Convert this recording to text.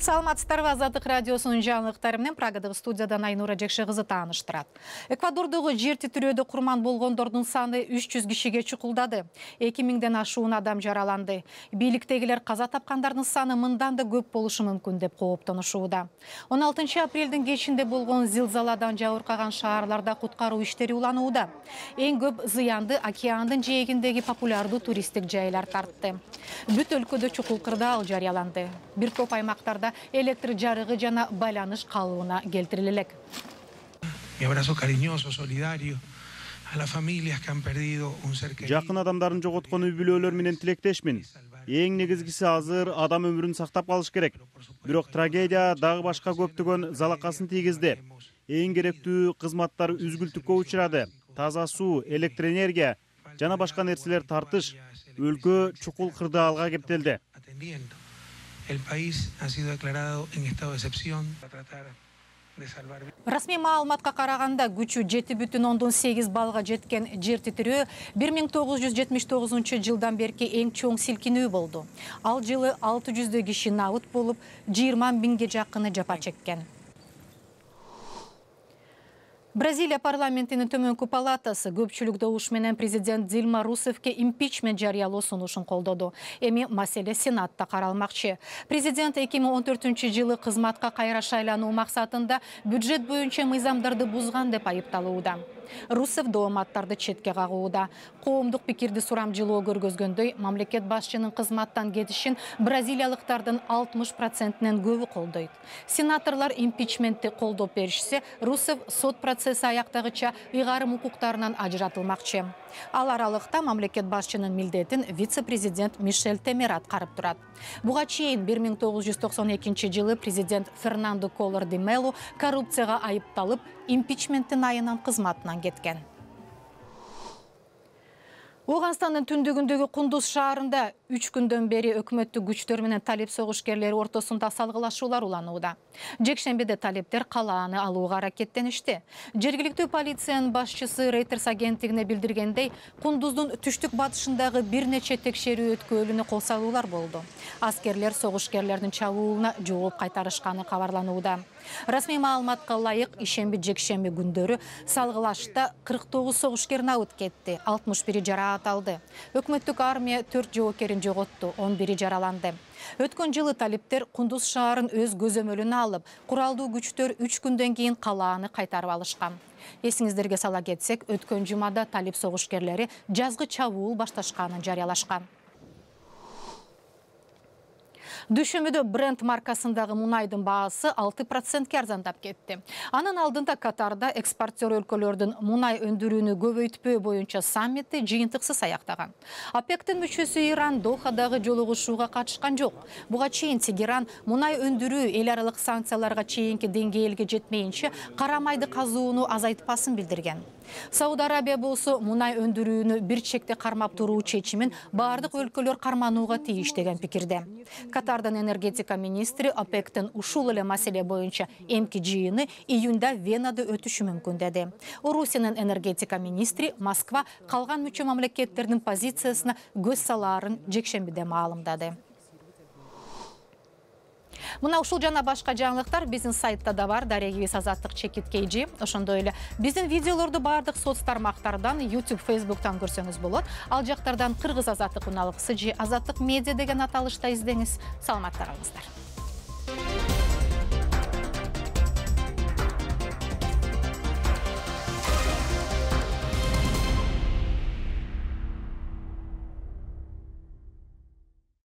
Саламатсыздарбы, Азаттык радиосунун жаңылыктары менен Прагадагы студиядан Айнура Жекше кызы тааныштырат. Эквадордогу жер титирөөдө курман болгондордун саны 300 кишиге чукулдады. 2000ден ашуун адам жараланды. Бийликтегилер каза тапкандардын саны мындан да көп болушу мүмкүн деп кооптонушууда. 16 апрелдин кечинде болгон зилзаладан жабыркаган шаарларда куткаруу иштери уланууда. Эң көп зыянды океандын жээгиндеги популярдуу туристтик жайлар тартты. Бүт өлкөдө чукул кырдаал жарыяланды. Бир топ аймактарда электр жарыгы жана байланыш калыбына келтириле элек. Жакын адамдарын жоготкон үй бүлөлөр менен тилектешмин. Эң негизгиси азыр адам өмүрүн сактап калыш керек. Бирок трагедия дагы башка көптөгөн залакасын тийгизди. Эң керектүү кызматтар үзгүлтүккө учурады. Таза суу, электр энергия жана башка нерселер тартыш өлкө чукул кырдаалга кептелди. El país ha sido declarado en estado de excepción para tratar de salvar. Расмий маалыматка караганда күчү 7,8 балга жеткен жер титирөө 1979 жылдан берки эң чоң силкинүү болду. Ал жылы 600 киши набыт болуп, 20 миңге жакыны жапа чеккен. Бразилия парламентинин төмөнкү палатасы көпчүлүк добуш менен президент Дилма Русефке импичмент жарыялоо сунушун колдоду. Эми маселе Сенатта каралмакчы. Президент 2014 жылы кызматка кайра шайлануу максатында бюджет боюнча мыйзамдарды бузган деп айыпталууда. Русев дооматтарды четке кагууда. Коомдук пикирди сурамжылоо көргөзгөндөй, мамлекет башчынын кызматтан кетишин бразилиялыктардын 60%нен көбү колдойт. Сенаторлор импичментти колдоп беришсе, Русев сот процесси аяктагыча ыйгарым укуктарынан ажыратылмакчы. Ал аралыкта мамлекет башчынын милдетин вице-президент Мишель Темер аткарып турат. Буга чейин 1992 жылы президент Фернандо Коллор де Мело коррупцияга айыпталып, импичменттин айынан кызматынан кеткен. Оганстандын түндүгүндөгү Кундуз шаарында 3 күндөн бери өкмөттүк күчтөр менен талеп согушкерлери ортосунда салгылашуулар уланууда. Жекшембиде талептер калааны алууга аракеттеништи. Жергиликтүү полициянын башчысы Reuters агенттигине билдиргендей, Кундуздун түштүк батышындагы бир нече текшерүү өткөөлүнө кол салуулар болду. Аскерлер согушкерлердин чабуулуна жооп кайтарышканы кабарланууда. Расмий маалыматка ылайык, ишемби-жекшемби күндөрү салгылашта 49 согушкер набыт кетти, 61 жараат алды. Өкмөттүк армия 4 жоокерин жоготту, 11 жараланды. Өткөн жылы талептер Кундуз шаарын өз көзөмөлүнө алып, куралдуу күчтөр 3 күндөн кийин калааны кайтарып алышкан. Эсиңиздерге сала кетсек, өткөн жумада талеп согушкерлери жазгы чабуул башташканын жарыялашкан. Дүйшөмбүдө Brent маркасындагы мунайдын баасы 6% арзандап кетти. Анын алдында Катарда экспортер өлкөлөрдүн мунай өндүрүүнү көбөйтпөө боюнча саммити жыйынтыксыз аяктаган. ОПЕКтин мүчөсү Иран Дохадагы жолугушууга катышкан жок. Буга чейин Тегеран мунай өндүрүү эл аралык санкцияларга чейинки деңгээлге жетмейинче кара майды казууну азайтпасын билдирген. Сауд Арабия болсо мунай өндүрүүнү бир чекте кармап туруу чечимин бардык өлкөлөр карманууга тийиш деген пикирде. Катардын энергетика министри ОПЕКтин ушул эле маселе боюнча эмки жыйыны июнда Венада өтүшү мүмкүн деди. Орусиянын энергетика министри Москва калган мүчө мамлекеттердин позициясына көз салаарын жекшембиде маалымдады. Мына ушул жана башка жаңылыктар биздин сайтта да бар, дарегибиз Азаттык _KG. Ошондой эле биздин видеолорду бардык соц тармактардан, YouTube, Facebooktан көрсөңүз болот. Ал жактардан Кыргыз Азаттык уналыксы же Азаттык медиа деген аталышта издеңиз. Саламаттар алыңыздар.